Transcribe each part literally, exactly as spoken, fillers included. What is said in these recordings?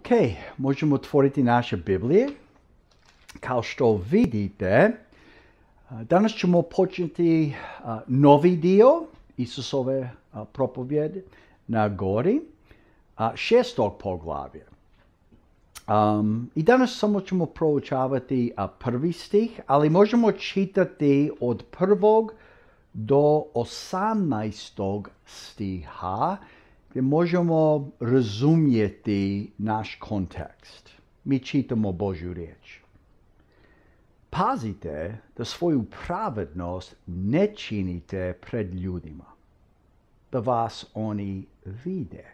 Ok, možemo otvoriti naše Biblije. Kao što vidite, danas ćemo početi novi dio Isusove propovjede na gori, šestog poglavlja. Um, I danas samo ćemo proučavati prvi stih, ali možemo čitati od prvog do osamnaestog stiha, gdje možemo razumjeti naš kontekst. Mi čitamo Božju riječ. Pazite da svoju pravednost ne činite pred ljudima, da vas oni vide.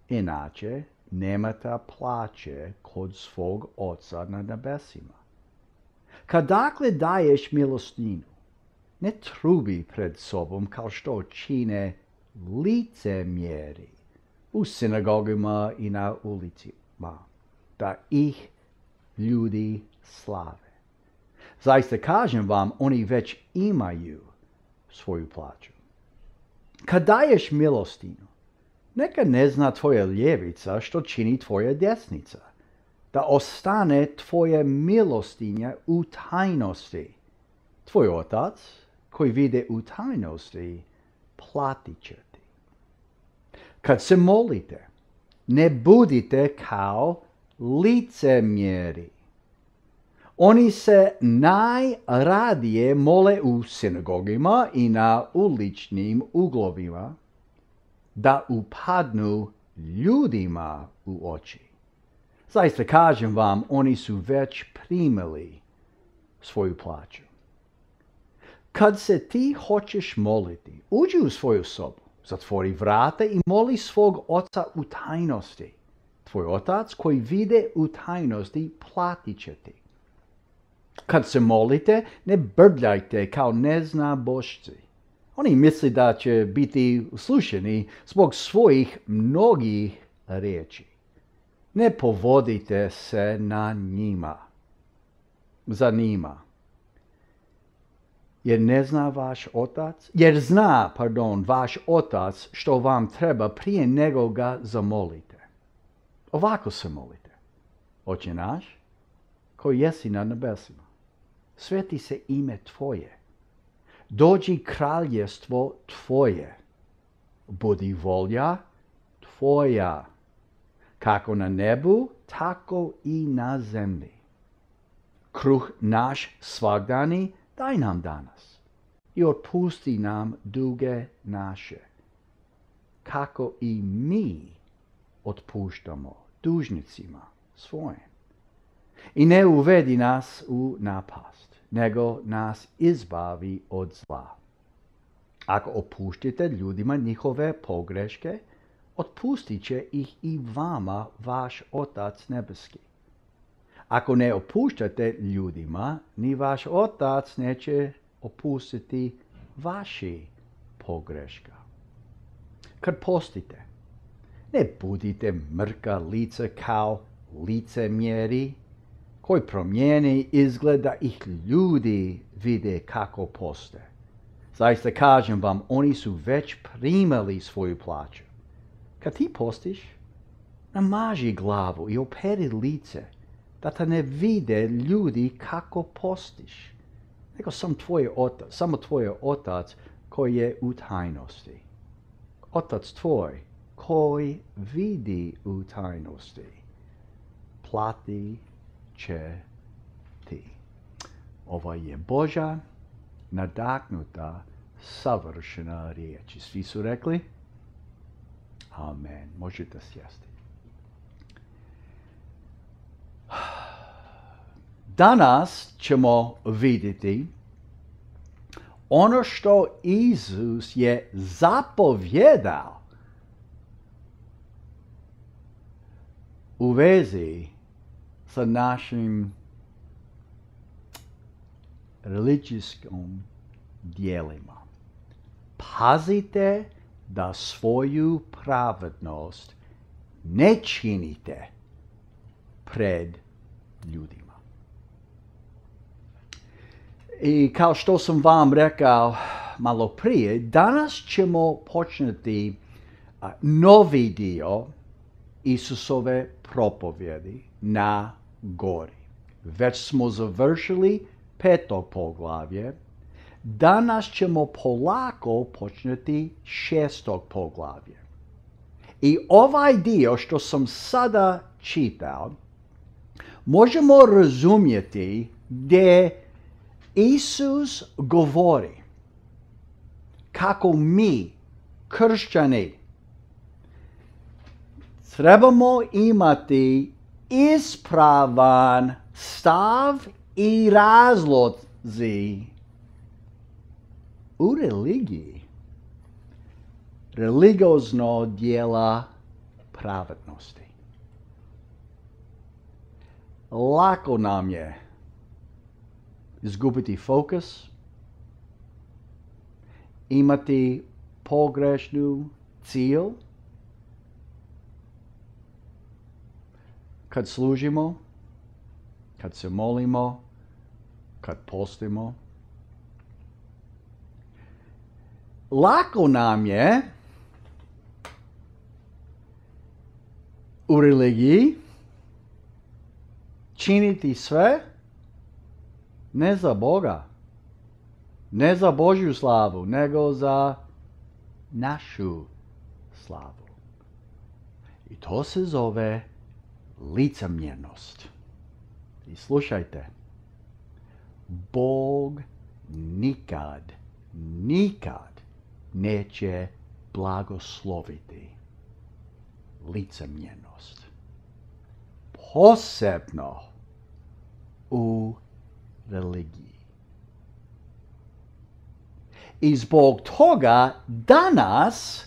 Inače, nemate plaće kod svog Oca na nebesima. Kad dakle daješ milostinu, ne trubi pred sobom kao što čine licemjeri u sinagogama i na ulicima, da ih ljudi slave. Zaista kažem vam, oni već imaju svoju plaću. Kad daješ milostinu, neka ne zna tvoja ljevica što čini tvoja desnica, da ostane tvoja milostinja u tajnosti. Tvoj Otac, koji vide u tajnosti, platit će ti. Kad se molite, ne budite kao licemjeri. Oni se najradije mole u sinagogima i na uličnim uglovima, da upadnu ljudima u oči. Zaista kažem vam, oni su već primili svoju plaću. Kad se ti hoćeš moliti, uđi u svoju sobu, zatvori vrata i moli svog Oca u tajnosti. Tvoj Otac koji vide u tajnosti platit će ti. Kad se molite, ne brbljajte kao neznabošci. Oni misle da će biti slušani zbog svojih mnogih riječi. Ne povodite se na njima, za njima. Jer ne zna vaš Otac, jer zna, pardon, vaš Otac što vam treba prije nego ga zamolite. Ovako se molite. Oče naš, koji jesi na nebesima, sveti se ime Tvoje. Dođi kraljestvo Tvoje. Budi volja Tvoja, kako na nebu, tako i na zemlji. Kruh naš svagdani daj nam danas i otpusti nam duge naše, kako i mi otpuštamo dužnicima svojim. I ne uvedi nas u napast, nego nas izbavi od zla. Ako opuštite ljudima njihove pogreške, otpustit će ih i vama vaš Otac nebeski. Ako ne opuštate ljudima, ni vaš Otac neće opustiti vaši pogreška. Kad postite, ne budite mrka lica kao licemjeri, koji promijeni izgled da ih ljudi vide kako poste. Zaista kažem vam, oni su već primali svoju plaću. Kad ti postiš, namaži glavu i operi lice, da te ne vide ljudi kako postiš, nego sam tvoj otac, samo tvoj Otac koji je u tajnosti. Otac tvoj koji vidi u tajnosti, plati će ti. Ovo je Božja nadahnuta savršena riječ. Svi su rekli? Amen. Možete sjesti. Danas ćemo vidjeti ono što Isus je zapovjedao u vezi sa našim religijskim dijelima. Pazite da svoju pravednost ne činite pred ljudima. I kao što sam vam rekao malo prije, danas ćemo početi novi dio Isusove propovjedi na gori. Već smo završili peto poglavlje. Danas ćemo polako početi šestog poglavlje. I ovaj dio što sam sada čitao, možemo razumjeti gdje Isus govori kako mi, kršćani, trebamo imati ispravan stav i razlozi u religiji. Religiozno djela pravednosti. Lako nam je izgubiti fokus, imati pogrešnu cilj, kad služimo, kad se molimo, kad postimo. Lako nam je u religiji činiti sve ne za Boga, ne za Božju slavu, nego za našu slavu. I to se zove licemjernost. I slušajte, Bog nikad, nikad neće blagosloviti licemjernost. Posebno u religiji. I zbog toga danas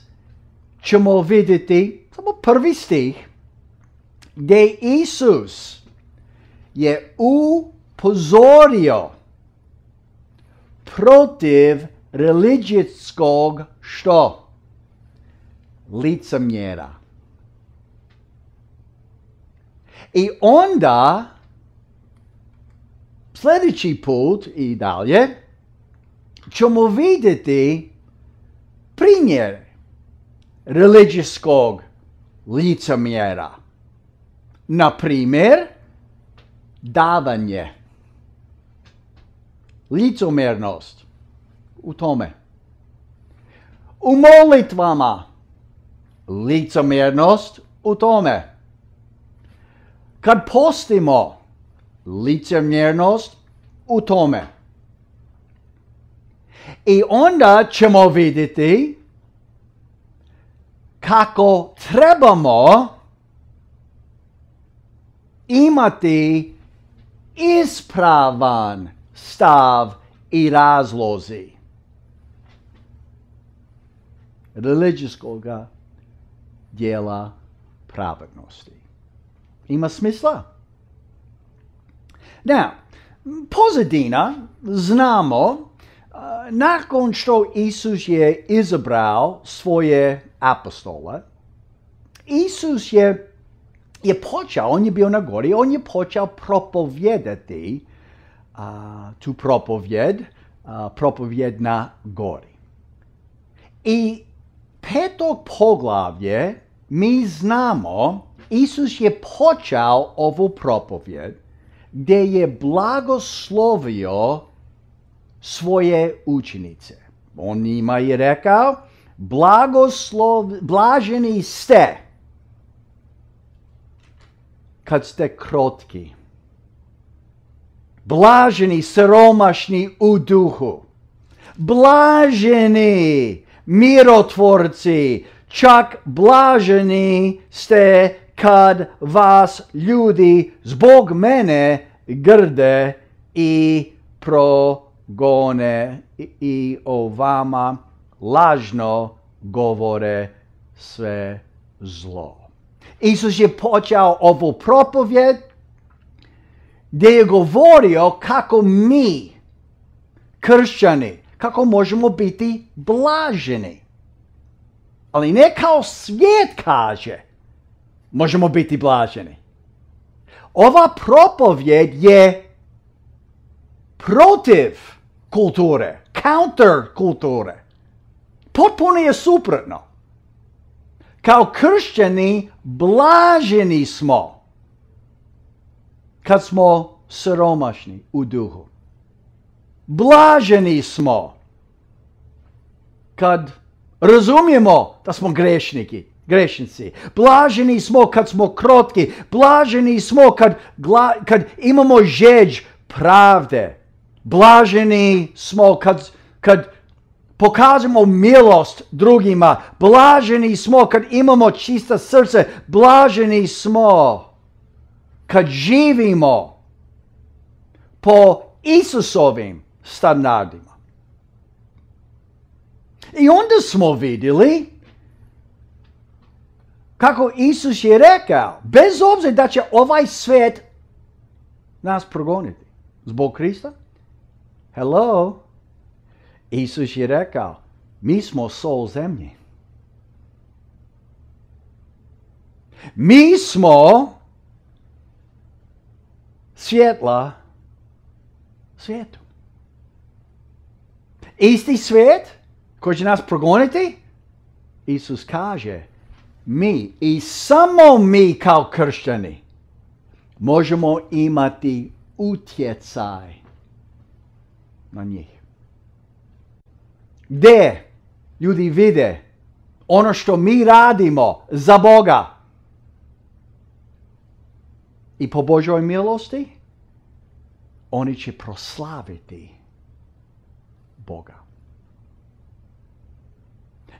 ćemo vidjeti samo prvi stih gdje Isus je upozorio protiv religijskog što? Licemjera. I onda sljedeći put i dalje ćemo vidjeti primjer religijskog licemjera. Na primjer, davanje. Licemjernost u tome. U molitvama. Licemjernost u tome. Kad postimo, licemjernost u tome. I onda ćemo vidjeti kako trebamo imati ispravan stav i razlozi religijskog djela pravednosti. Ima smisla? Now, pozadina znamo, uh, nakon što Isus je izabrao svoje apostole, Isus je, je počeo, on je bio na gori, on je počeo propovijedati uh, tu propovjed, uh, propovjed na gori. I petog poglavlje mi znamo, Isus je počeo ovu propovjed gdje je blagoslovio svoje učenice. On njima je rekao, blagoslov, blaženi ste kad ste krotki. Blaženi siromašni u duhu. Blaženi mirotvorci, čak blaženi ste kad vas ljudi zbog mene grde i progone i, i o vama lažno govore sve zlo. Isus je počeo ovu propovjed gdje je govorio kako mi, kršćani, kako možemo biti blaženi. Ali ne kao svijet kaže, možemo biti blaženi. Ova propovjed je protiv kulture, counter kulture. Potpuno je suprotno. Kao kršćani blaženi smo kad smo siromašni u duhu. Blaženi smo kad razumijemo da smo grešniki, grešnici. Blaženi smo kad smo krotki. Blaženi smo kad, gla, kad imamo žeđ pravde. Blaženi smo kad, kad pokažemo milost drugima. Blaženi smo kad imamo čista srce. Blaženi smo kad živimo po Isusovim standardima. I onda smo vidjeli kako Isus je rekao, bez obzira da će ovaj svijet nas progoniti zbog Krista. Hello? Isus je rekao, mi smo sol zemlje. Mi smo svjetla svijetu. Isti svijet koji će nas progoniti, Isus kaže, mi i samo mi kao kršćani možemo imati utjecaj na njih. Gdje ljudi vide ono što mi radimo za Boga i po Božoj milosti, oni će proslaviti Boga.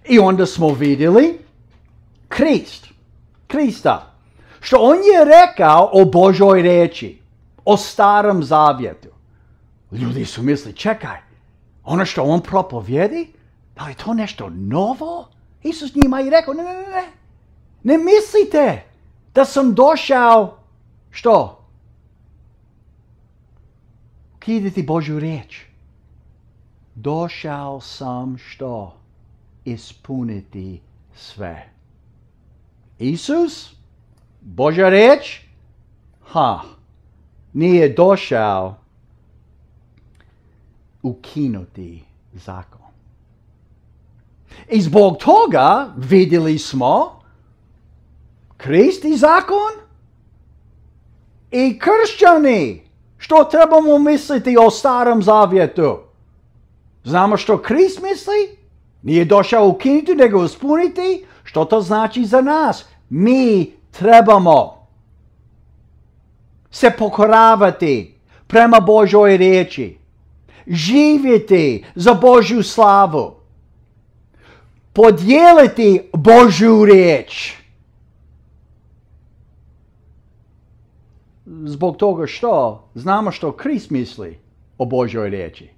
I onda smo vidjeli Krist, Krista, što on je rekao o Božoj riječi, o starom zavjetu. Ljudi su mislili, čekaj, ono što on propovjedi, da li je to nešto novo? Isus njima je rekao, ne, ne, ne, ne, ne mislite da sam došao, što? Ukidati Božju riječ. Došao sam, što? Ispuniti sve. Isus, Božja riječ, ha, nije došao ukinuti zakon. I zbog toga vidjeli smo Krist i zakon i kršćani. Što trebamo misliti o starom zavjetu? Znamo što Krist misli? Nije došao ukinuti, nego ispuniti. Što to znači za nas? Mi trebamo se pokoravati prema Božoj riječi. Živjeti za Božju slavu. Podijeliti Božju riječ. Zbog toga što znamo što Krist misli o Božoj riječi.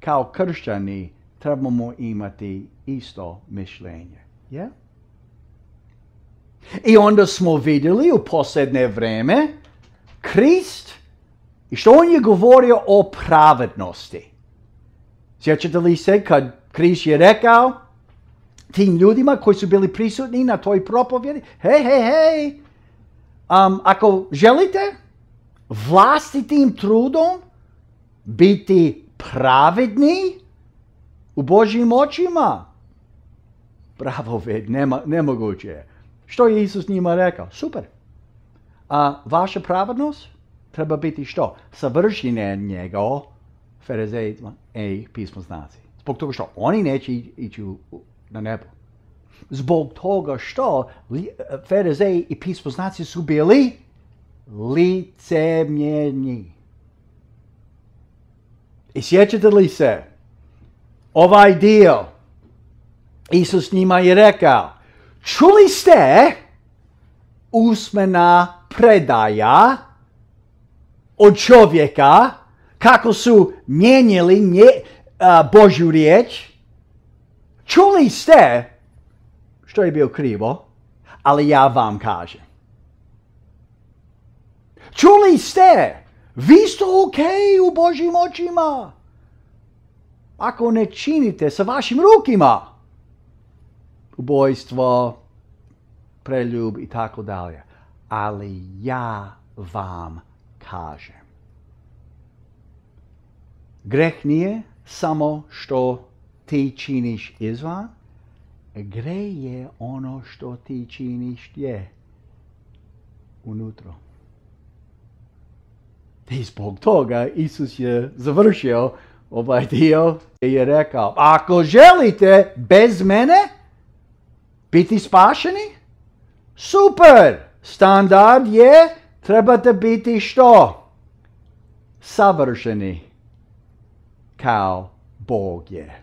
Kao kršćani trebamo imati isto mišljenje. Yeah? I onda smo vidjeli u posljednje vrijeme Krist i što on je govorio o pravednosti. Sjećate li se kad Krist je rekao tim ljudima koji su bili prisutni na toj propovjedi, hej, hej, hej, um, ako želite vlastitim trudom biti pravedni u Božjim očima, bravo, ved, nema, nemoguće je. Što je Isus njima rekao? Super. A vaša pravednost treba biti što? Savršenje njega, farizejima i pismoznaci. Zbog toga što oni neće ići na nebo. Zbog toga što farizeji i pismoznaci su bili licemjerni. I sjećate li se? Ovaj dio Isus njima je rekao, čuli ste usmena predaja od čovjeka kako su mijenjali nje, uh, Božju riječ. Čuli ste što je bilo krivo, ali ja vam kažem. Čuli ste, vi ste ok u Božjim očima. Ako ne činite sa vašim rukima ubojstvo, preljub i tako dalje. Ali ja vam kažem. Greh nije samo što ti činiš izvan, Gre je ono što ti činiš gdje? Unutro. I zbog toga Isus je završio ovaj dio i je rekao, ako želite bez mene biti spašeni, super, standard je, trebate biti što? Savršeni kao Bog je.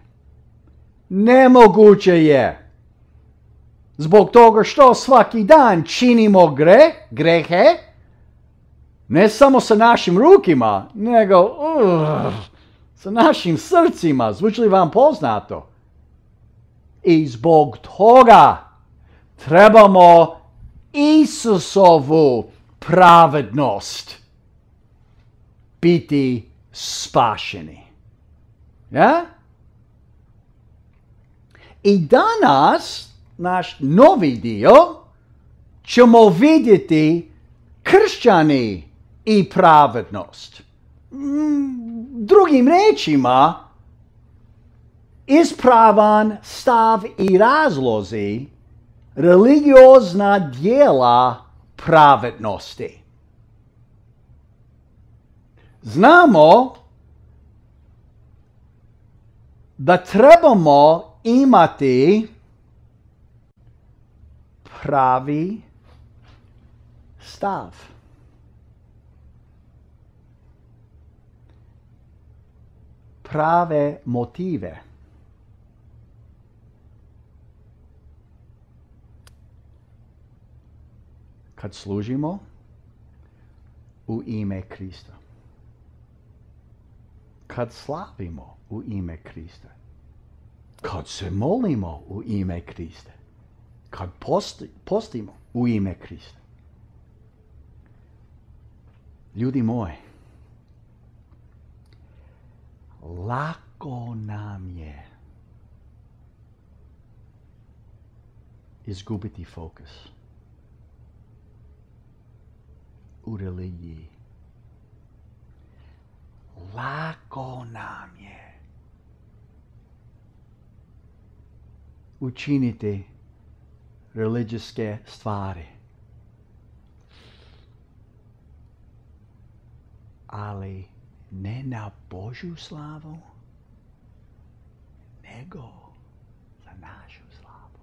Nemoguće je. Zbog toga što svaki dan činimo gre, grehe, ne samo sa našim rukima, nego uh, sa našim srcima. Zvuči li vam poznato? I zbog toga trebamo Isusovu pravednost biti spašeni. Ja? I danas, naš novi dio, ćemo vidjeti kršćani i pravednost. Drugim rečima, ispravan stav i razlozi religiozna djela pravednosti. Znamo da trebamo imati pravi stav. Prave motive. Kad služimo u ime Krista. Kad slavimo u ime Krista. Kad se molimo u ime Krista. Kad posti, postimo u ime Krista. Ljudi moji, lako nam je izgubiti fokus u religiji. Lako nam je učiniti religijske stvari. Ali ne na Božju slavu, nego za našu slavu.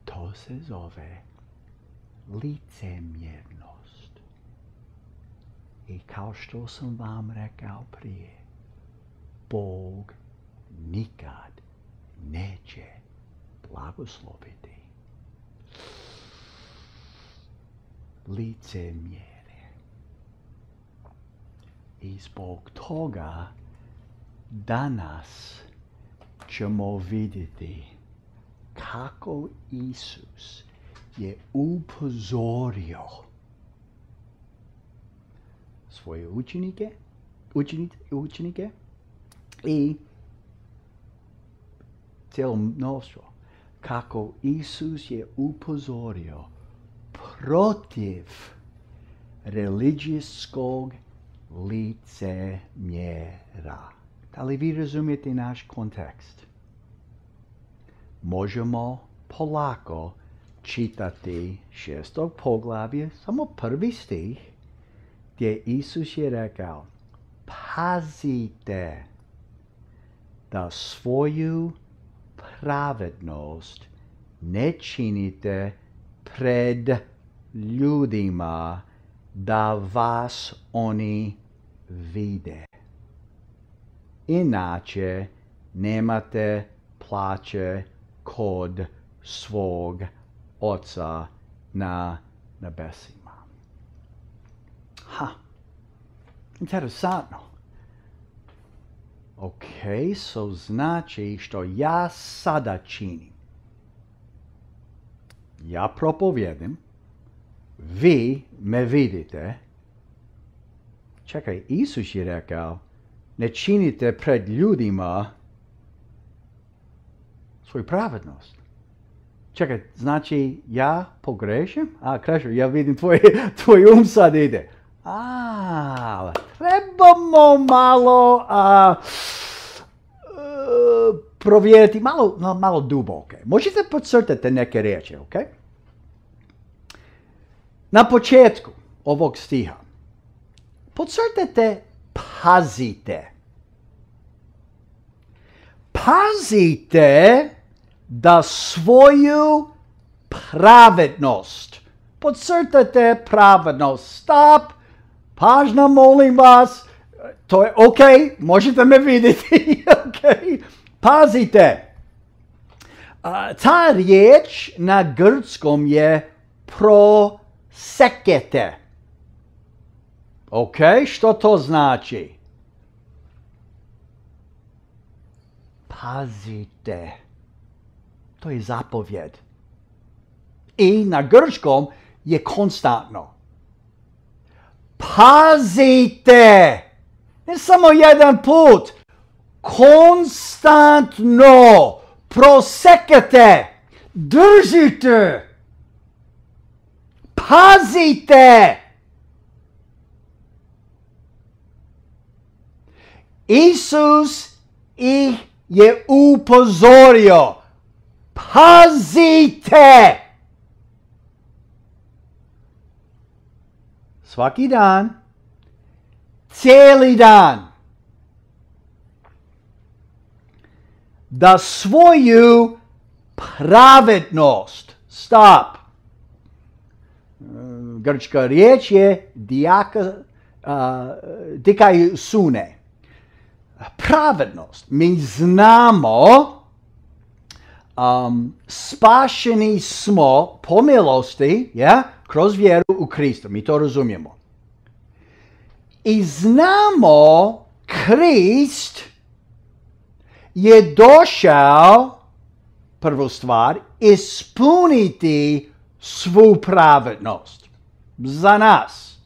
To se zove licemjernost. I kao što sam vam rekao prije, Bog nikad neće blagosloviti licemjerje. I zbog toga danas ćemo vidjeti kako Isus je upozorio svoje učenike, učenike, učenike i cijelo mnoštvo. Kako Isus je upozorio protiv religijskog licemjera. Da li vi razumijete naš kontekst? Možemo polako čitati šestog poglavlje, samo prvi stih, gdje Isus je rekao, pazite da svoju pravednost ne činite pred ljudima da vas oni vide. Inače nemate plaće kod svog Oca na nebesima. Ha, interesantno. Ok, so znači što ja sada činim. Ja propovjedim, vi me vidite. Čekaj, Isus je rekao, ne činite pred ljudima svoju pravednost. Čekaj, znači ja pogrešim? A, Krešo, ja vidim tvoj, tvoj um sad ide. A, trebamo malo a, provjeriti malo, malo duboke. Možete podcrtati neke riječi, ok? Na početku ovog stiha podcrtajte pazite. Pazite da svoju pravednost. Podcrtajte pravednost. Stop. Pažnja, molim vas. To je ok. Možete me vidjeti. Ok. Pazite. Uh, ta riječ na grčkom je prosekete. Ok. Što to znači? Pazite. To je zapovjed. I na grčkom je konstantno. Pazite! Ne samo jedan put. Konstantno. Prosekate. Držite. Pazite! Isus ih je upozorio. Pazite! Svaki dan, cijeli dan, da svoju pravednost, stop, grčka riječ je diaka, uh, dikaiosune, pravednost. Mi znamo, um, spašeni smo po milosti, ja, kroz vjeru u Krista. Mi to razumijemo. I znamo Krist je došao, prvu stvar, ispuniti svu pravednost za nas.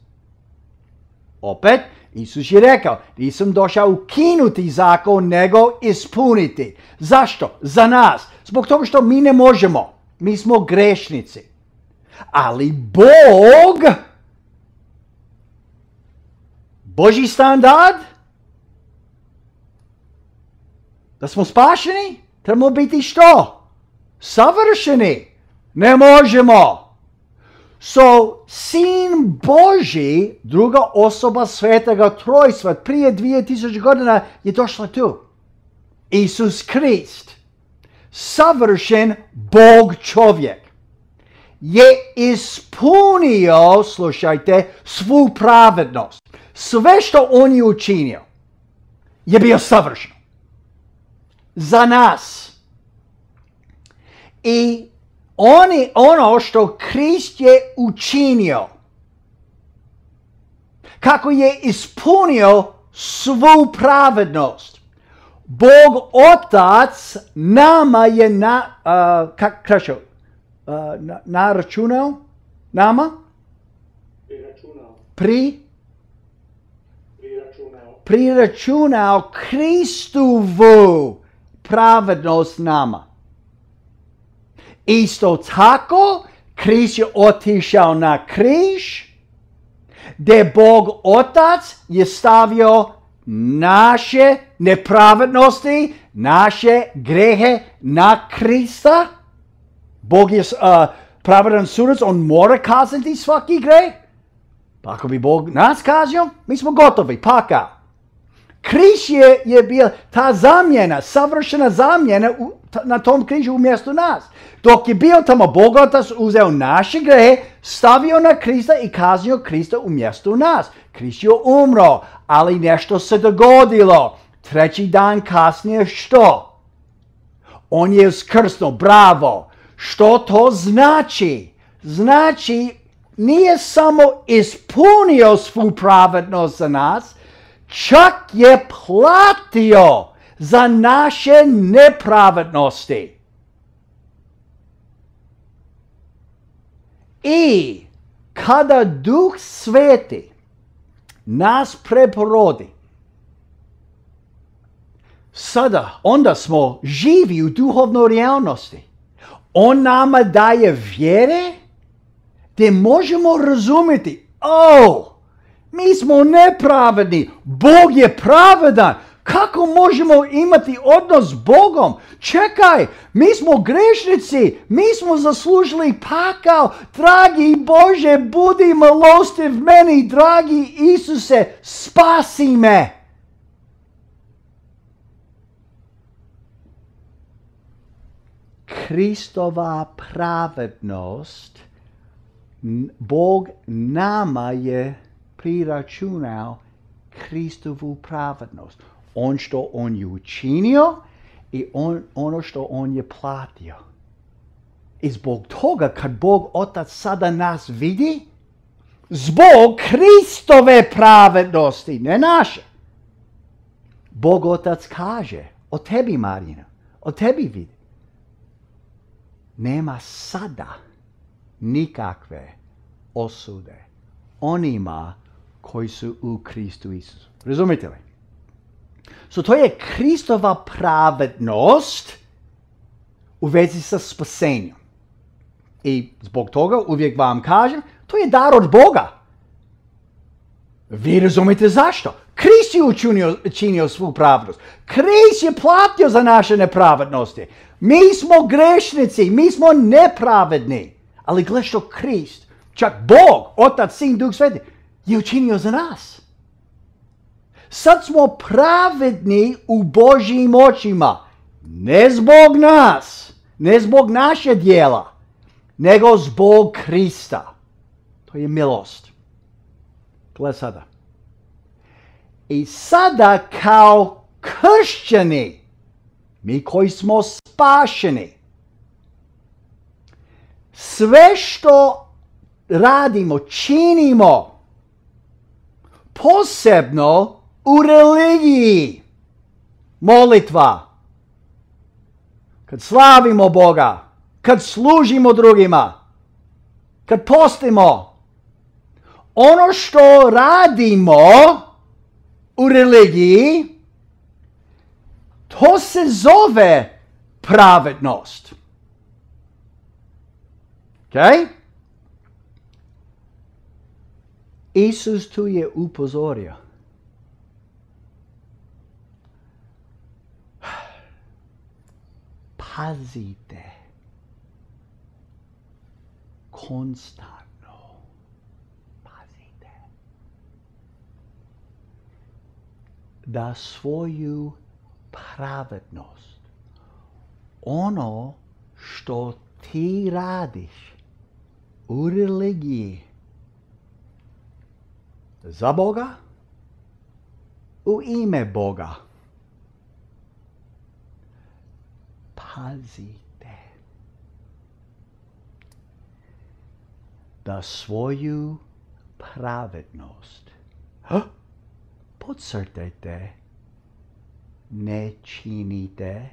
Opet, Isus je rekao, nisam došao ukinuti zakon, nego ispuniti. Zašto? Za nas. Zbog toga što mi ne možemo. Mi smo grešnici. Ali Bog, Božji standard, da smo spašeni, trebamo biti što? Savršeni. Ne možemo. So, Sin Božji, druga osoba Svetoga Trojstva, prije dvije tisuće godina je došla tu. Isus Krist, savršen Bog čovjek, je ispunio, slušajte, svu pravednost. Sve što on je učinio je bio savršeno. Za nas. I oni, ono što Krist je učinio, kako je ispunio svu pravednost, Bog Otac nama je na, uh, kak krašo, uh, na, naračunao, nama? Priračunao. Pri? Priračunao. Priračunao Kristovu pravednost nama. Isto tako, Krist je otišao na križ, gdje Bog Otac je stavio naše nepravednosti, naše grehe na Krista. Bog je uh, pravedan sudac, on mora kazniti svaki greh. Pa ako bi Bog nas kaznio, mi smo gotovi, paka. Križ je, je bio ta zamjena, savršena zamjena u, ta, na tom križu umjesto nas. Dok je bio tamo, Bog Otac uzeo naše grehe, stavio na Krista i kaznio Krista umjesto nas. Krist je umro, ali nešto se dogodilo. Treći dan kasnije što? On je uskrsnuo, bravo. Što to znači? Znači, nije samo ispunio svu pravednost za nas, čak je platio za naše nepravednosti. I kada Duh Sveti nas preporodi, sada, onda smo živi u duhovnoj realnosti. On nama daje vjere gdje možemo razumjeti, oh, mi smo nepravedni, Bog je pravedan, Kako možemo imati odnos s Bogom? Čekaj, mi smo grešnici, mi smo zaslužili pakao. Dragi Bože, budi milostiv meni, dragi Isuse, spasi me. Kristova pravednost, Bog nama je priračunao Kristovu pravednost. On što on je učinio i on, ono što on je platio. I zbog toga kad Bog Otac sada nas vidi, zbog Kristove pravednosti, ne naše, Bog Otac kaže o tebi, Marina, o tebi vidi. Nema sada nikakve osude onima koji su u Kristu Isusu. Razumite li? So to je Kristova pravednost u vezi sa spasenjem. I zbog toga uvijek vam kažem, to je dar od Boga. Vi razumite zašto? Krist je učinio, učinio svu pravednost. Krist je platio za naše nepravednosti. Mi smo grešnici, mi smo nepravedni. Ali gle što Krist, čak Bog, Otac, Sin, Duh Sveti, je učinio za nas. Sad smo pravedni u Božjim očima. Ne zbog nas, ne zbog naše djela, nego zbog Krista. To je milost. Gle sada. I sada kao kršćani, mi koji smo spašeni, sve što radimo, činimo, posebno u religiji, molitva, kad slavimo Boga, kad služimo drugima, kad postimo, ono što radimo u religiji, to se zove pravednost. Okay? Isus tu je upozorio. Pazite. Konstantno. Pazite. Da svoju pravednost, ono što ti radiš u religiji za Boga, u ime Boga, pazite da svoju pravednost, podcrtajte, ne činite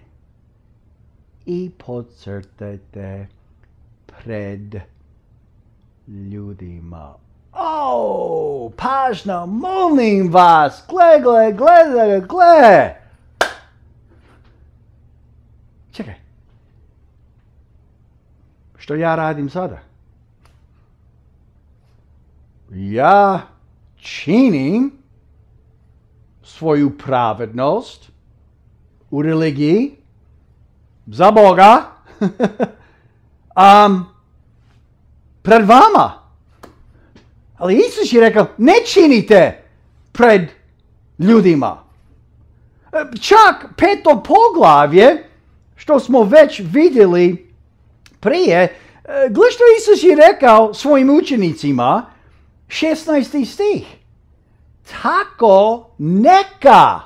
i podcrtajte pred ljudima. O, pažnja, molim vas, gle, gle, gle, gle. Čekaj. Što ja radim sada? Ja činim svoju pravednost u religiji za Boga um, pred vama. Ali Isus je rekao, ne činite pred ljudima. Čak peto poglavlje, što smo već vidjeli prije, gle što Isus je rekao svojim učenicima, šesnaesti stih. Tako neka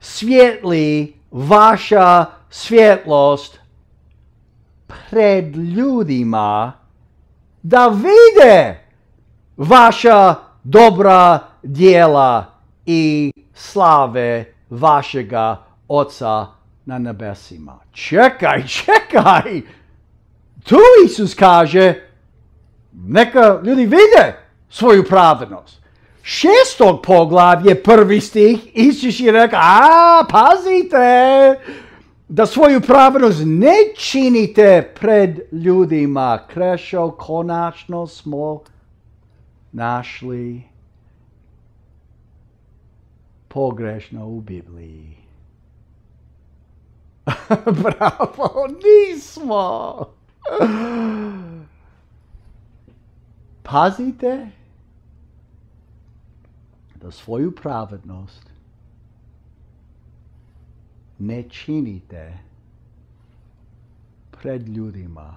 svijetli vaša svjetlost pred ljudima, da vide vaša dobra djela i slave vašega Oca na nebesima. Čekaj, čekaj! Tu Isus kaže, neka ljudi vide svoju pravednost. Šestog poglavlje, prvi stih, Isus je rekao, a, pazite, da svoju pravednost ne činite pred ljudima. Krešo, konačno smo našli pogrešno u Bibliji. Bravo, nismo! Pazite da svoju pravednost ne činite pred ljudima.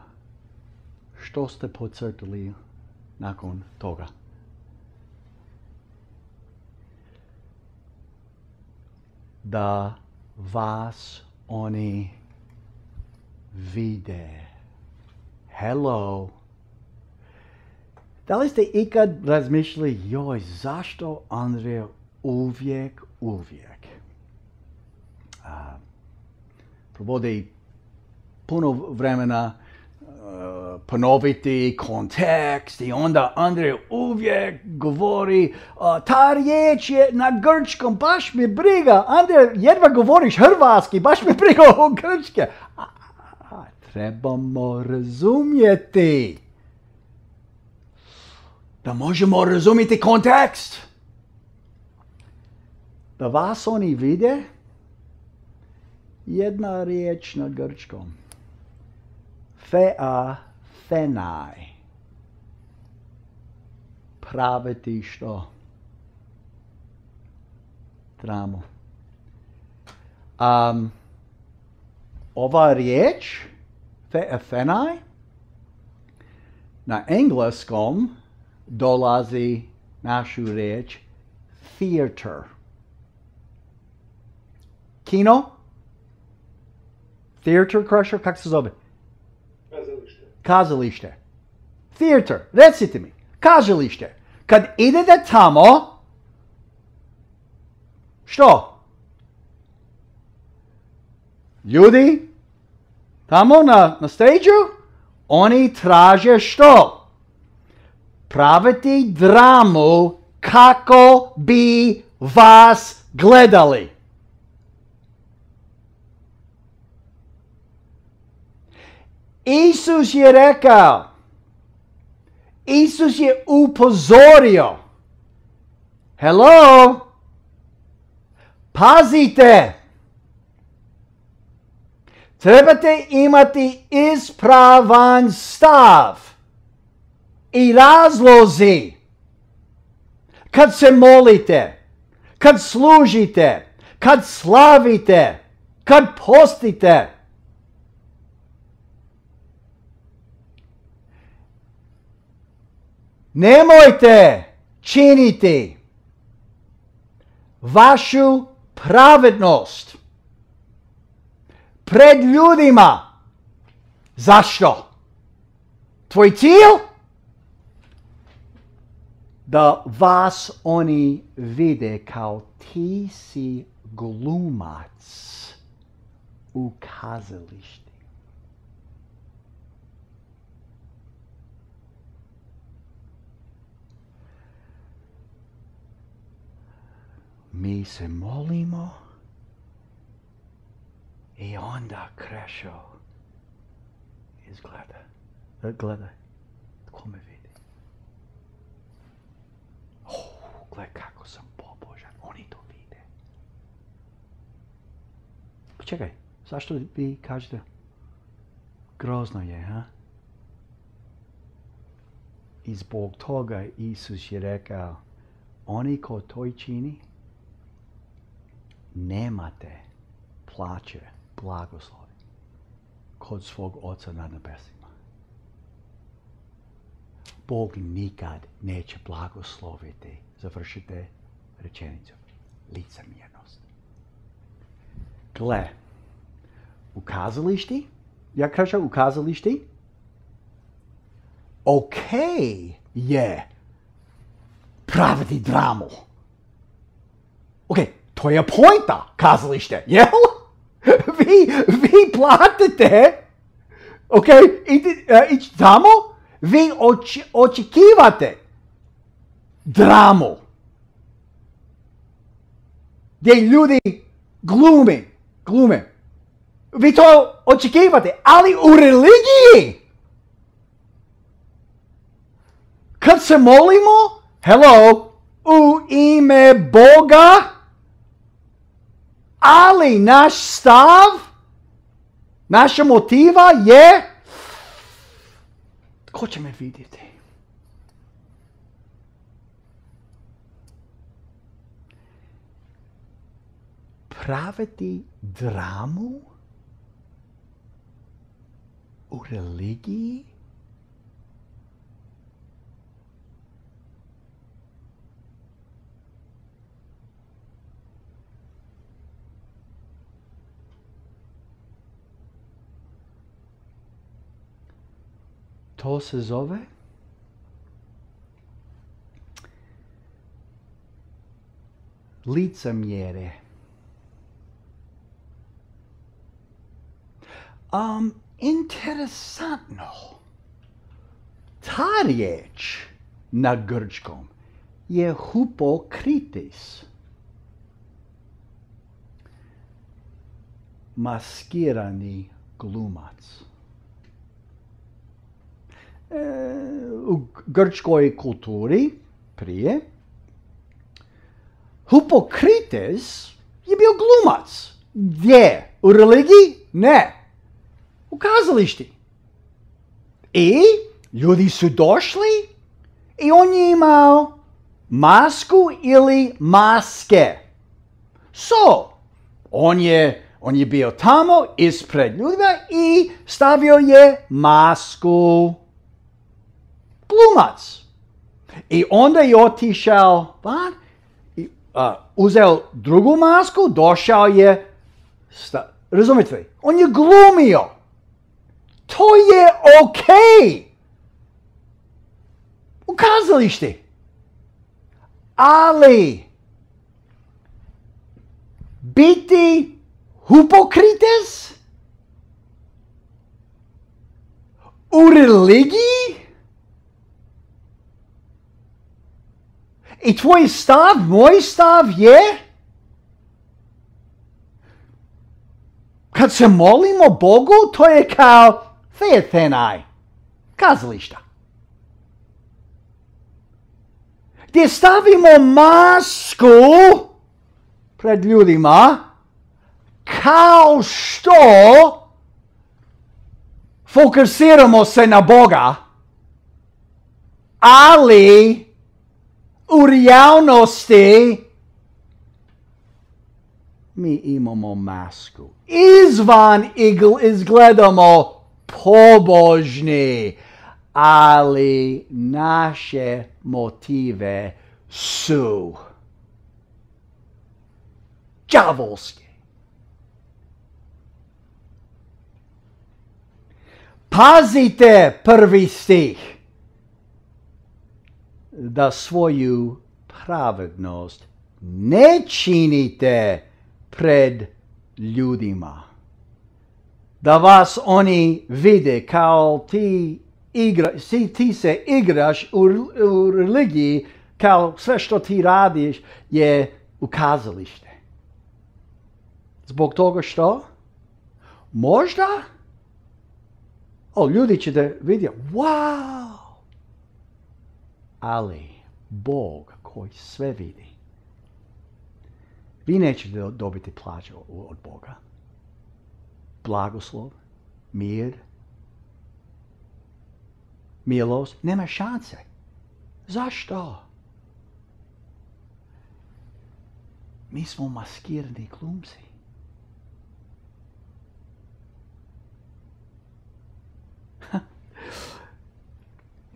Što ste podcrtali nakon toga? Da vas oni vide. Hello. Da li ste ikad razmišljali, joj, zašto Andrej uvijek, uvijek a, provodi puno vremena uh, ponoviti kontekst i onda Andrej uvijek govori uh, ta riječ je na grčkom, baš mi briga. Andrej, jedva govoriš hrvatski, baš mi briga o grčke. A, a, trebamo razumjeti da možemo razumjeti kontekst. Da vas oni vide, jedna riječ na grčkom. Fea, fenaj. Praviti što? Dramu. Um, ova riječ, fea, fenaj, na engleskom dolazi našu riječ theater. Kino? Theater, Krešo, kako se zove? Kazalište. Kazalište. Theater, recite mi. Kazalište. Kad idete tamo, što? Ljudi, tamo na, na stage-u, oni traže što? Praviti dramu kako bi vas gledali. Isus je rekao, Isus je upozorio, hello, pazite, trebate imati ispravan stav i razlozi kad se molite, kad služite, kad slavite, kad postite. Nemojte činiti vašu pravednost pred ljudima. Zašto? Tvoj cilj? Da vas oni vide kao ti si glumac u kazalištu. Mi se molimo i onda Krešo izgleda. Gledaj, tko me vidi? Oh, gledaj kako sam pobožan, oni to vide. Pa čekaj, zašto vi kažete? Grozno je, ha? I zbog toga Isus je rekao, oni ko to čini, nemate plaće, blagoslovi kod svog Oca na nebesima. Bog nikad neće blagosloviti, završite rečenicu, licemjernost. Gle, u kazališti, ja kažem u kazališti, okej je praviti dramu. Okej, to je pointa kazalište, jel? Vi, vi platite, ok, ići uh, tamo, vi oč, očekivate dramu. Gdje ljudi glume, glume. Vi to očekivate, ali u religiji, kad se molimo, hello, u ime Boga, Ali naš stav, naša motiva je, ko će me vidjeti? Praviti dramu u religiji? To se zove licemjerje. Um, interesantno. Ta riječ na grčkom je hupokritis. Maskirani glumac. U grčkoj kulturi prije Hipokrites je bio glumac. Gdje? U religiji? Ne. U kazališti. I ljudi su došli i on je imao masku ili maske. So, on je, on je bio tamo ispred ljudima i stavio je masku. Glumac. I onda je otišao van, i, uh, uzeo drugu masku, došao je, sta, razumijete, on je glumio. To je okej. U kazališti. Ali, biti hipokrites u religiji? I tvoj stav, moj stav je, kad se molimo Bogu, to je kao theathenai, kazališta. Gdje stavimo masku pred ljudima, kao što fokusiramo se na Boga, ali u realnosti mi imamo masku. Izvan izgledamo pobožni, ali naše motive su đavolske. Pazite prvi stih. Da svoju pravednost ne činite pred ljudima. Da vas oni vide kao ti, igra, ti, ti se igraš u, u religiji, kao sve što ti radiš je u kazalište. Zbog toga što? Možda? O, ljudi će da vidjeti, wow! Ali Bog koji sve vidi, vi nećete dobiti plaću od Boga. Blagoslov, mir, milost, nema šanse. Zašto? Mi smo maskirani glumci.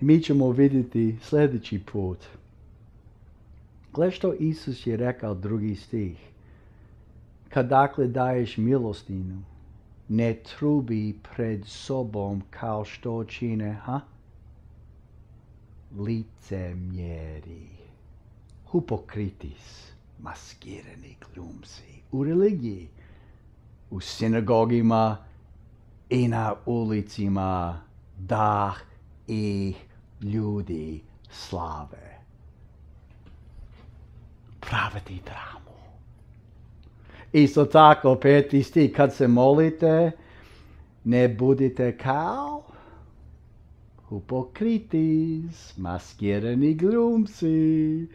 Mi ćemo vidjeti sljedeći put. Gle što Isus je rekao drugi stih. Kad dakle daješ milostinu, ne trubi pred sobom kao što čine, ha? Licemjeri, hipokritis, maskirani glumci u religiji, u sinagogima i na ulicima, da i ljudi slave. Praviti dramu. Isto tako, peti stih, kad se molite, ne budite kao Hipokritis, maskirani glumci.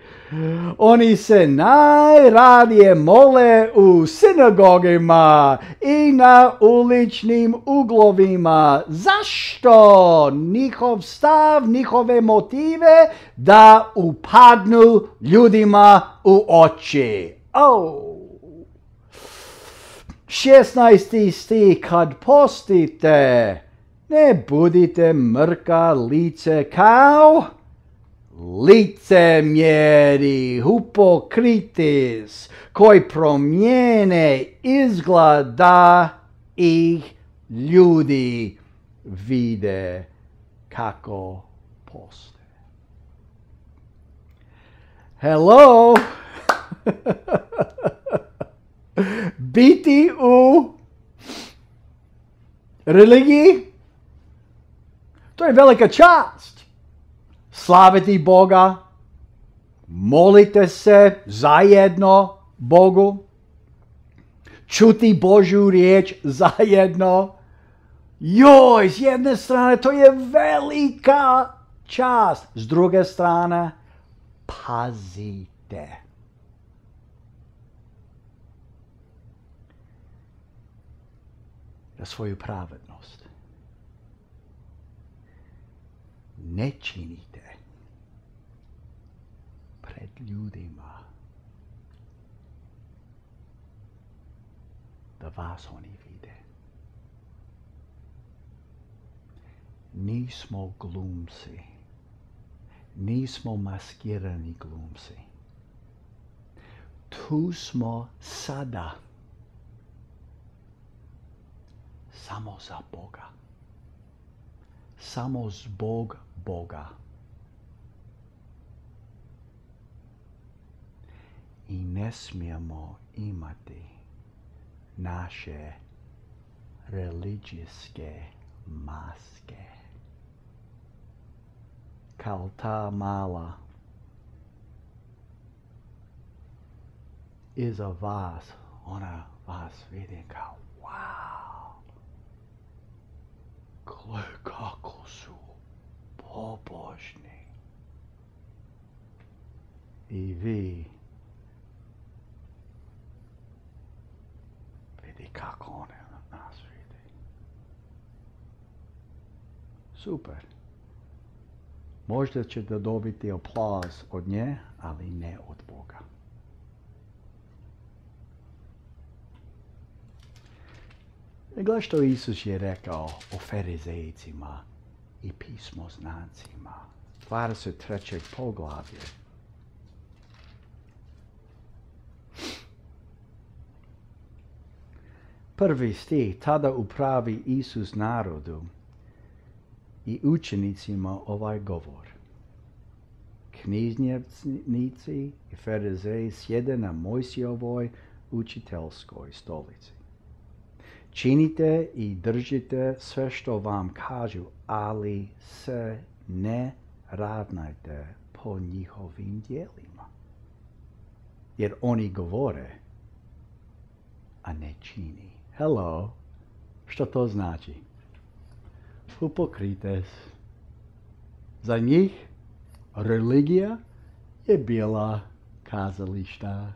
Oni se najradije mole u sinagogima i na uličnim uglovima. Zašto? Njihov stav, njihove motive da upadnu ljudima u oči. Oh. šesnaesti stih, kad postite, ne budite mrka lice kao licemjeri, hipokritis, koji promijene izgled da ih ljudi vide kako poste. Hello! Biti u religiji, to je velika čast. Slaviti Boga, molite se zajedno Bogu, čuti Božju riječ zajedno. Joj, s jedne strane to je velika čast, s druge strane pazite. Na svoju pravednost. Ne činite pred ljudima da vas oni vide. Nismo glumci. Nismo maskirani glumci. Tu smo sada. Samo za Boga. Samo zbog Boga. I ne smijemo imati naše religijske maske. Kao ta mala iza vas, ona vas vidi kao wow. Gle kako su pobožni. I vi vidi kako one nas vidi. Super. Možda ćete dobiti aplauz od nje, ali ne od Boga. Gledaj što Isus je rekao o farizejcima i pismoznancima. dvadeset treće poglavlje. Prvi stih, tada upravi Isus narodu i učenicima ovaj govor. Knjižnici i farizeji sjede na Mojsijevoj učiteljskoj stolici. Činite i držite sve što vam kažu, ali se ne ravnajte po njihovim djelima. Jer oni govore, a ne čini. Hello, što to znači? Hipokrites. Za njih religija je bila kazališta.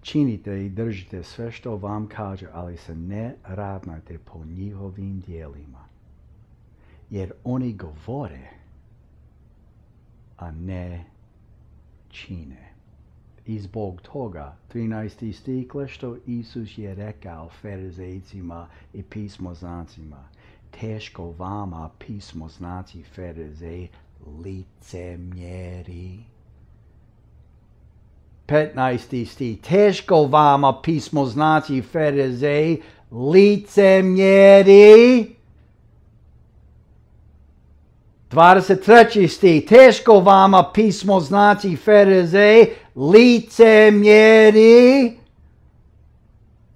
Činite i držite sve što vam kaže, ali se ne ravnajte po njihovim djelima. Jer oni govore, a ne čine. I zbog toga, trinaesti stih, što Isus je rekao farizejcima i pismoznancima, teško vama pismoznanci farizeji, licemjeri. petnaesti stih, teško vama pismoznaci farizeji, licemjeri. dvadeset treći stih, teško vama pismoznaci farizeji, licemjeri.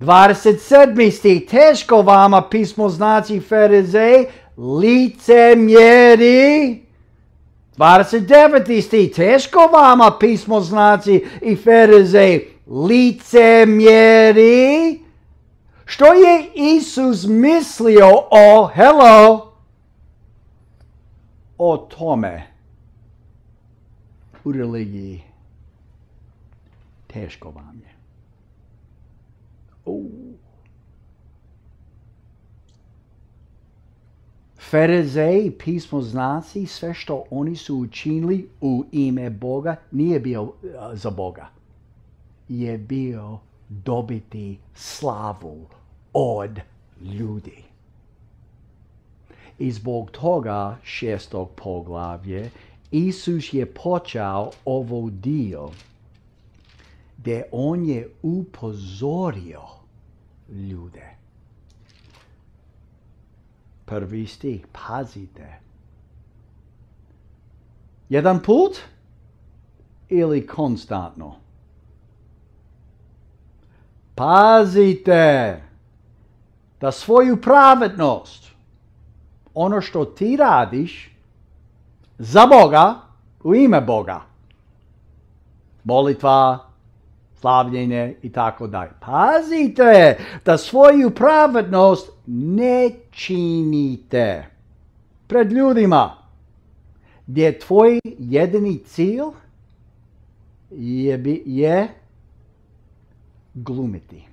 dvadeset sedmi stih, teško vama pismoznaci farizeji, licemjeri. dvadeset deveti stih, teško vama pismoznaci i farizeji, licemjeri. Što je Isus mislio o, hello, o tome u religiji? Teško vam je. Uh. Farizeji, pismoznanci, sve što oni su učinili u ime Boga nije bio uh, za Boga. Je bio dobiti slavu od ljudi. I zbog toga šestog poglavlje Isus je počeo ovo dio gdje on je upozorio ljude. Prvi stih, pazite. Jedan put ili konstantno? Pazite da svoju pravednost, ono što ti radiš za Boga, u ime Boga, molitva, slavljenje i tako dalje. Pazite da svoju pravednost ne činite pred ljudima gdje tvoj jedini cilj je, je glumiti,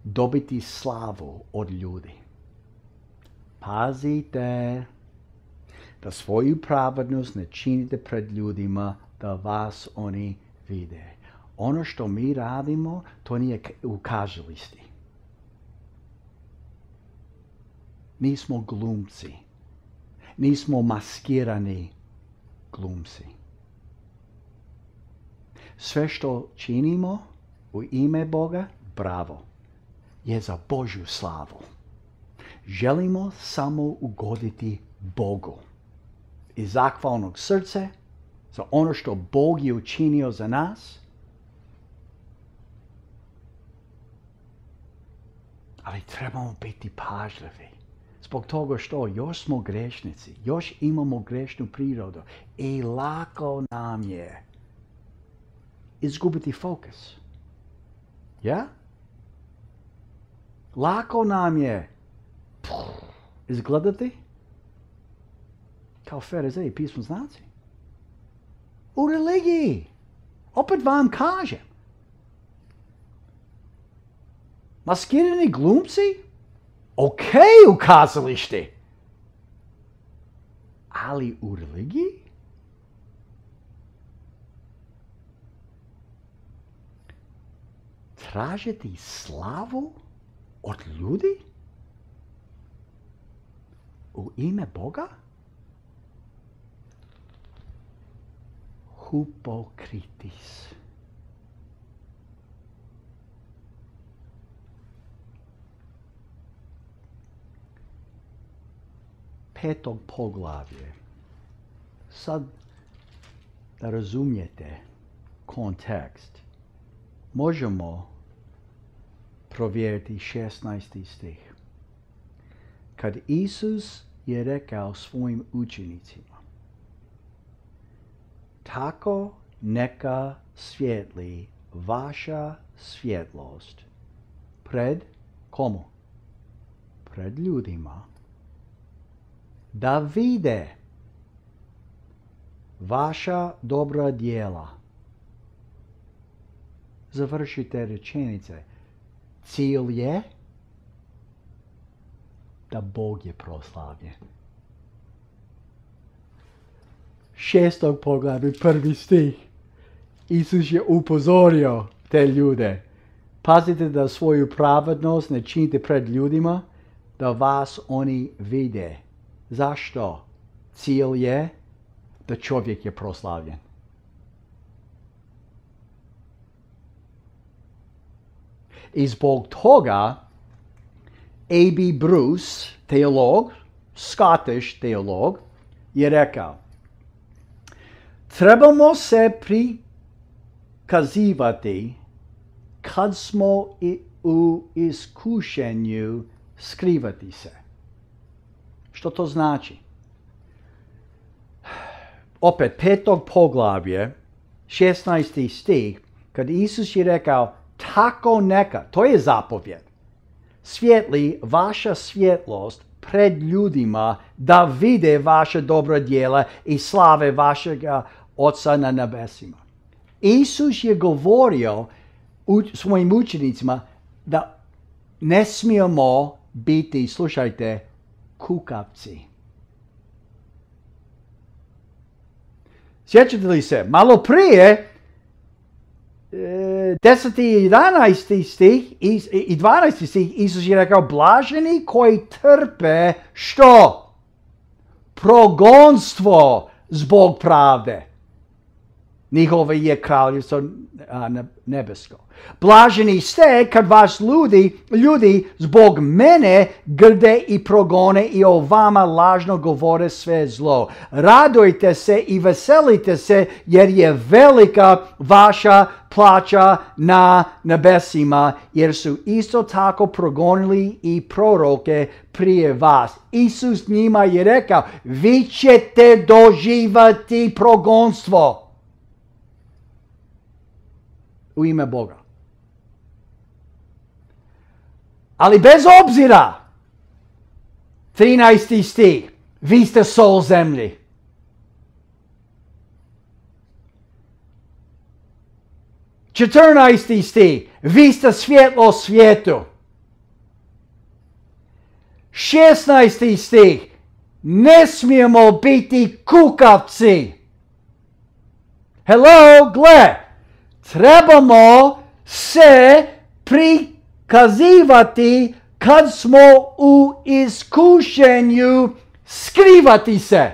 dobiti slavu od ljudi. Pazite da svoju pravednost ne činite pred ljudima da vas oni vide. Ono što mi radimo, to nije u kazališti. Nismo glumci. Nismo maskirani glumci. Sve što činimo u ime Boga, bravo, je za Božju slavu. Želimo samo ugoditi Bogu. Iz zahvalnog srca, za ono što Bog je učinio za nas. Ali trebamo biti pažljivi. Zbog toga što još smo grešnici, još imamo grešnu prirodu i lako nam je izgubiti fokus. Ja? Lako nam je izgledati kao farizeji, pismoznanci. U religiji. Opet vam kažem. Maskirani glumci? Ok, u kazališti. Ali u religiji? Tražiti slavu od ljudi? U ime Boga? Hypokritis. Petog poglavlje. Sad da razumijete kontekst, možemo provjeriti šesnaesti stih. Kad Isus je rekao svojim učenicima, tako neka svijetli vaša svjetlost pred komu? Pred ljudima, da vide vaša dobra djela. Završite rečenice. Cilj je da Bog je proslavljen. Šestog poglavlja, prvi stih. Isus je upozorio te ljude. Pazite da svoju pravednost ne činite pred ljudima, da vas oni vide. Zašto? Cilj je da čovjek je proslavljen. I zbog toga A B Bruce, teolog, Scottish teolog, je rekao, trebamo se prikazivati kad smo i u iskušenju skrivati se. Što to znači? Opet petog poglavlje, šesnaesti stih, kad Isus je rekao, tako neka, to je zapovjed, svijetli vaša svjetlost pred ljudima da vide vaša dobra djela i slave vašeg Oca na nebesima. Isus je govorio u svojim učenicima da ne smijemo biti, slušajte, kukavci. Sjećate li se, malo prije, deseti i jedanaesti stih i dvanaesti stih, Isus je rekao, blaženi koji trpe što? Progonstvo zbog pravde. Njihovo je kraljevstvo nebesko. Blaženi ste kad vas ljudi, ljudi zbog mene grde i progone i o vama lažno govore sve zlo. Radujte se i veselite se jer je velika vaša plaća na nebesima, jer su isto tako progonili i proroke prije vas. Isus njima je rekao, vi ćete doživati progonstvo u ime Boga. Ali bez obzira, trinaesti stih, vi ste sol zemlji. četrnaesti stih, vi ste svjetlo svijetu. šesnaesti stih, ne smijemo biti kukavci. Hello, gle, trebamo se prikazivati kad smo u iskušenju, skrivati se.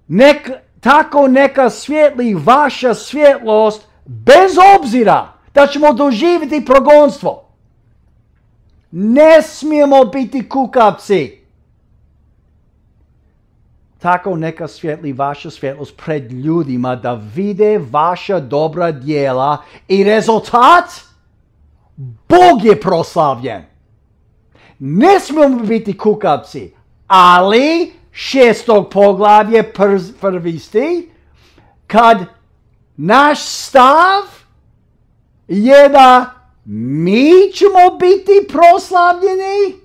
Nek, tako neka svijetli vaša svjetlost bez obzira da ćemo doživjeti progonstvo. Ne smijemo biti kukavci. Tako neka svijetli vaša svjetlost pred ljudima da vide vaša dobra djela i rezultat, Bog je proslavljen. Ne smijemo biti kukavci, ali šestog poglavlje prvi stih, kad naš stav je da mi ćemo biti proslavljeni,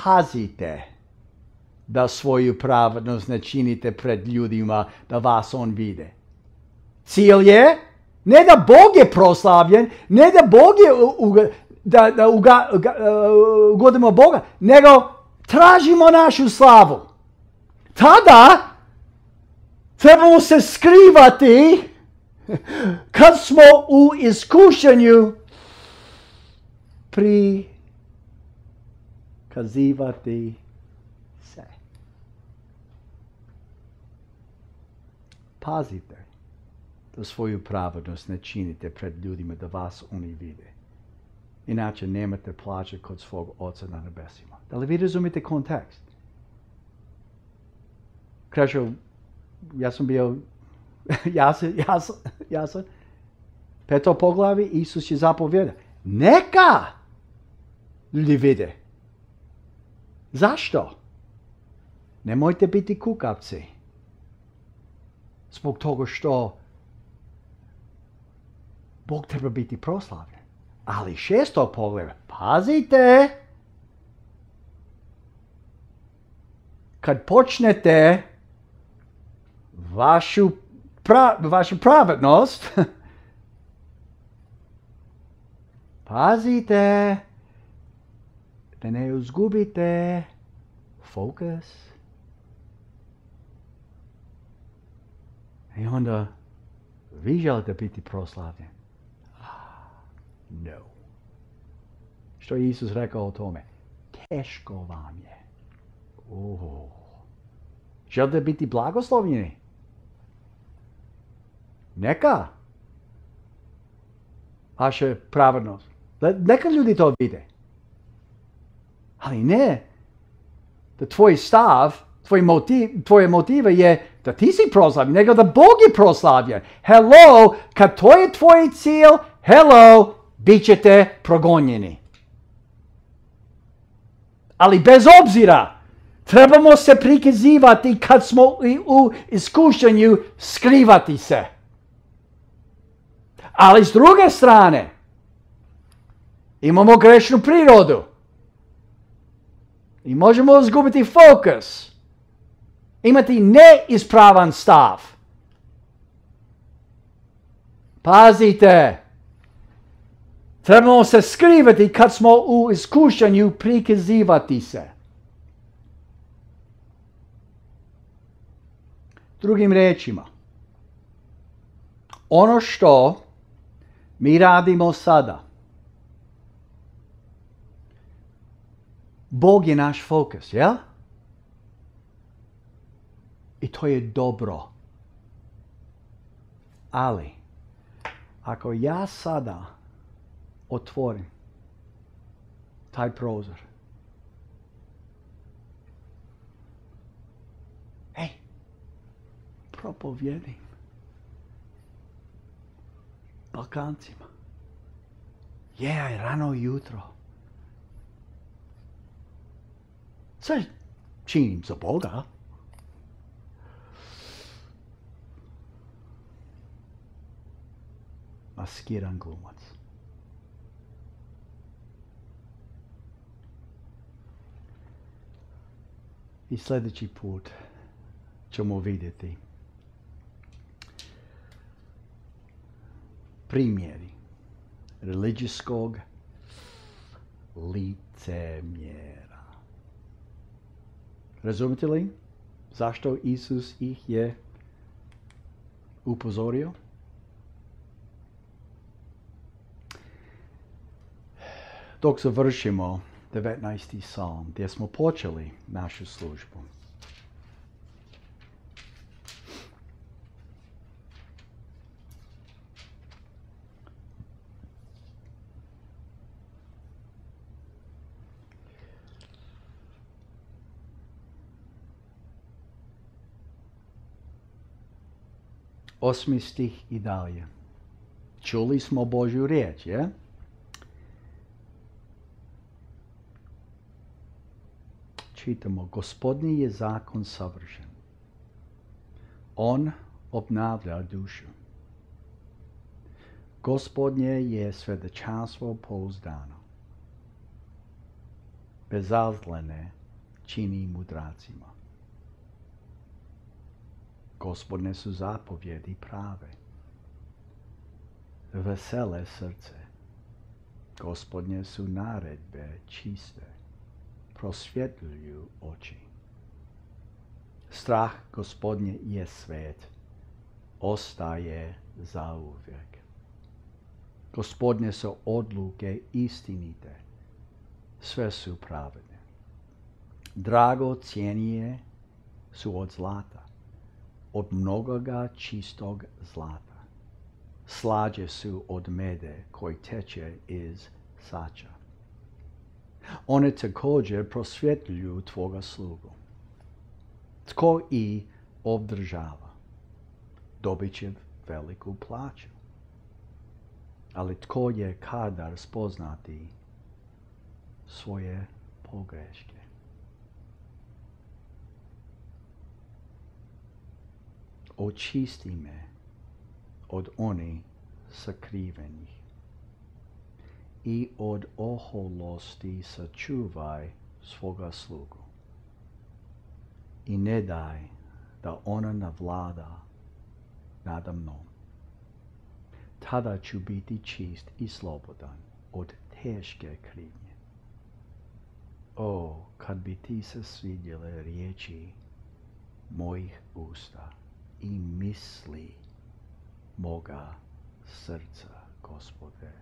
pazite da svoju pravednost ne činite pred ljudima da vas on vide. Cilj je ne da Bog je proslavljen, ne da Bog je uga, da, da uga, uga, uh, ugodimo Boga, nego tražimo našu slavu. Tada trebamo se skrivati kad smo u iskušenju prikazivati se. Pazite da svoju pravednost ne činite pred ljudima da vas oni vide. Inače nemate plaće kod svog Oca na nebesima. Da li vi razumite kontekst? Kreću, ja sam bio jasan, jasan, jasan. Peto poglavi, Isus je zapovjeda. Neka ljudi vide. Zašto? Nemojte biti kukavci. Zbog toga što Bog treba biti proslavljen. Ali šesto poglavlje, pazite, kad počnete vašu, pra, vašu pravednost, pazite da ne izgubite fokus. I onda vi želite biti proslavljen. No. Što je Isus rekao o tome? Teško vam je. Oh. Želite biti blagoslovljeni? Neka. Vaša pravednost. Neka ljudi to vide. Ali ne da tvoj stav, tvoj motiv, tvoje motive je da ti si proslavljen, nego da Bog je proslavljen. Hello, kad to je tvoj cilj, hello, bit ćete progonjeni. Ali bez obzira Trebamo se prikazivati kad smo u iskušenju, skrivati se. Ali s druge strane, imamo grešnu prirodu. I možemo izgubiti fokus. Imati neispravan stav. Pazite. Trebamo se skrivati kad smo u iskušenju, prikazivati se. Drugim riječima, ono što mi radimo sada, Bog je naš fokus, jel? I to je dobro. Ali, ako ja sada otvorim taj prozor, ej, propovjedim Balkancima. Je, rano jutro. Sve činim za Boga. Maskiran glumac. I sljedeći put ćemo vidjeti primjeri religijskog licemjera. Razumite li zašto Isus ih je upozorio? Dok završimo devetnaesti psalm, gdje smo počeli našu službu. Osmi stih i dalje. Čuli smo Božju riječ, je? Čitamo, Gospodnji je zakon savršen. On obnavlja dušu. Gospodnje je svjedočanstvo pouzdano. Bezazlene čini mudracima. Gospodne su zapovjedi prave. Vesele srce. Gospodnje su naredbe čiste. Prosvjetljuju oči. Strah Gospodnje je svet. Ostaje zauvijek. Gospodnje su odluke istinite. Sve su pravedne. Drago cijenije su od zlata. Od mnogoga čistog zlata. Slađe su od mede koji teče iz sača. One također prosvjetljuju tvoga slugu. Tko i obdržava, dobit će veliku plaću. Ali tko je kadar spoznati svoje pogreške? Očisti me od onih sakrivenih i od oholosti sačuvaj svoga slugu. I ne daj da ona navlada nada mnom. Tada ću biti čist i slobodan od teške krivnje. O, kad bi ti se svidjele riječi mojih usta i misli moga srca, Gospode,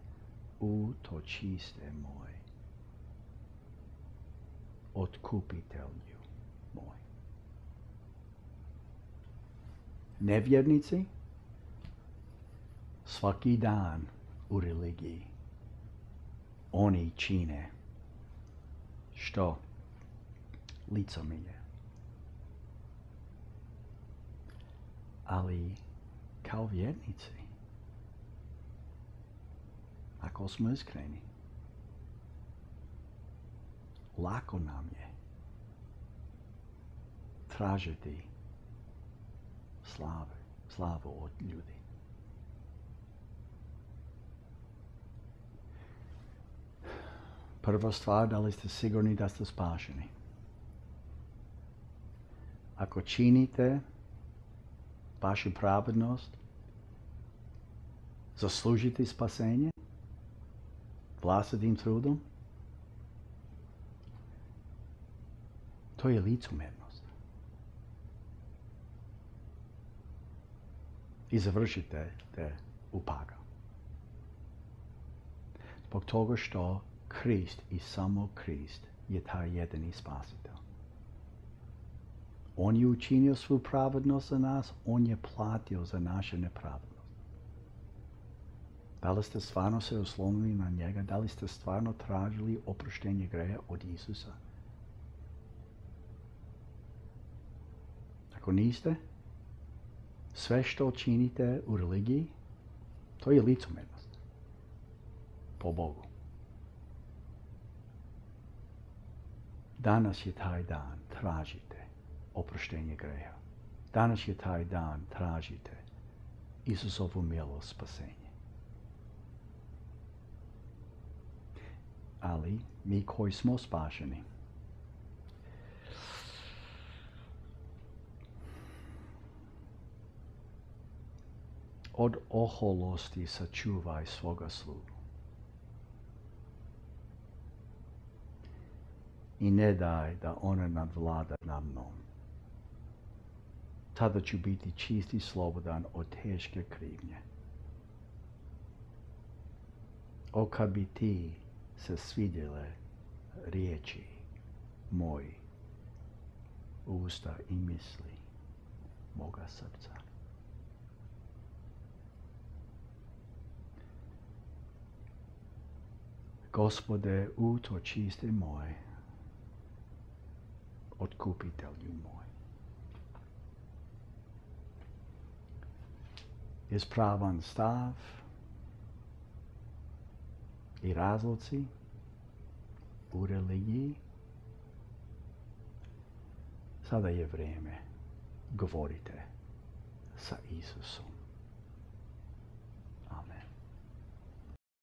utočiste moj, otkupitelju moj. Nevjernici svaki dan u religiji oni čine što? Licemjerje. Ali kao vjernici, ako smo iskreni, lako nam je tražiti slave, slavu od ljudi. Prva stvar, da li ste sigurni da ste spašeni? Ako činite vašu pravednost, zaslužite spasenje vlastitim trudom, to je licemjernost. I završite te u pakao. Zbog toga što Krist i samo Krist je taj jedini spasitelj. On je učinio svu pravednost za nas, on je platio za naše nepravednost. Da li ste stvarno se oslonili na njega? Da li ste stvarno tražili oproštenje greha od Isusa? Ako niste, sve što činite u religiji, to je licemjernost po Bogu. Danas je taj dan, tražite oproštenje greha. Danas je taj dan, tražite Isusovu milost, spasenje. Ali mi koji smo spašeni, od oholosti sačuvaj svoga slugu. I ne daj da ona nadvlada nad mnom. Tada ću biti čist i slobodan od teške krivnje. O, kad bi ti se svidjele riječi moji, usta i misli moga srca. Gospode, utočište moj, otkupitelju moj. Ispravan stav i razlozi u religiji. Sada je vrijeme, govorite sa Isusom.